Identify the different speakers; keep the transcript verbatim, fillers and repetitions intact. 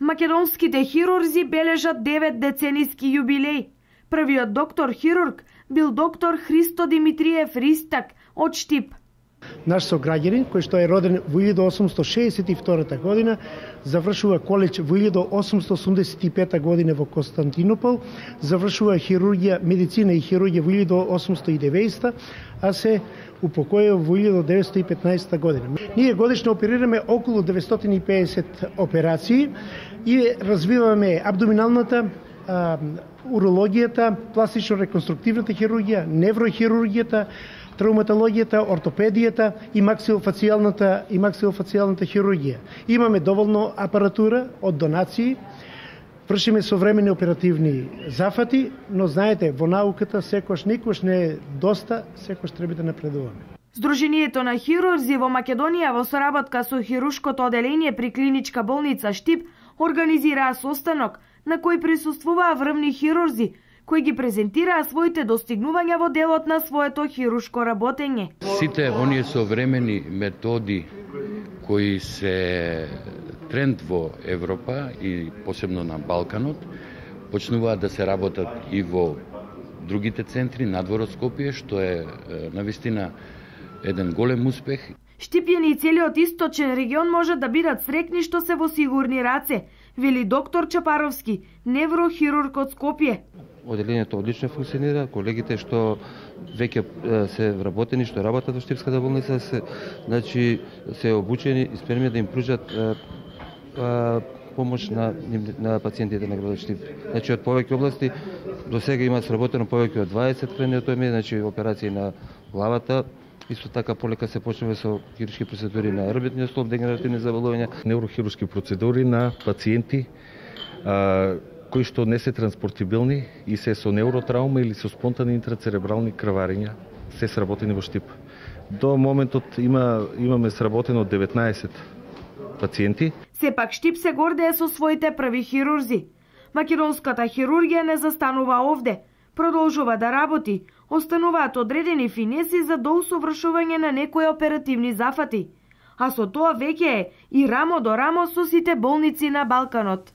Speaker 1: Македонските хирурзи бележат девет децениски јубилеј. Првиот доктор хирург бил доктор Христо Димитриев Ристак од Штип.
Speaker 2: Наш сограѓанин, кој што е роден во илјада осумсто шеесет и втора година, завршува коледж во илјада осумсто осумдесет и пета година во Константинопол, завршува хирургија, медицина и хирургија во илјада осумсто и деветдесета, а се упокоил во илјада деветстотини и петнаесета година. Ние годишно оперираме околу деветстотини и педесет операции и развиваме абдоминалната, а, урологијата, пластично-реконструктивната хирургија, неврохирургијата, травматологијата, ортопедијата и максилофацијалната и максилофацијалната хирургија. Имаме доволно апаратура од донации, вршиме современи оперативни зафати, но знаете, во науката секош никош не е доста, секош треба да напредуваме.
Speaker 1: Сдруженијето на хирурзи во Македонија во соработка со хирушкото оделение при клиничка болница Штип организираа состанок на кој присуствуваа врвни хирурзи кои ги презентираа своите достигнувања во делот на своето хирушко работење.
Speaker 3: Сите оние современи методи кои се тренд во Европа и посебно на Балканот, почнуваат да се работат и во другите центри надвор од Скопје, што е навистина еден голем успех.
Speaker 1: Штипјани и целиот источен регион можат да бидат срекни што се во сигурни раце, вели доктор Чапаровски, неврохирург од Скопје.
Speaker 4: Оделението одлично функционира, колегите што веќе се вработени, што работат во Штипската болница, се, значи, се обучени и спремни да им пружат а, а, помош на, на пациентите на градот Штип. Значи, од повеќе области до сега има сработено повеќе од дваесет кранеотоми, значи операции на главата. Исто така полека се почнува со хируршки процедури на ребетниот столб, дегенеративни заболувања,
Speaker 5: неврохируршки процедури на пациенти а, кои што не се транспортибилни и се со невротраума или со спонтани интрацеребрални крварења, се сработени во Штип. До моментот има имаме сработено деветнаесет пациенти.
Speaker 1: Сепак Штип се гордее со своите први хирурзи. Македонската хирургија не застанува овде, продолжува да работи, остануваат одредени финеси за доусовршување на некои оперативни зафати, а со тоа веќе е и рамо до рамо со сите болници на Балканот.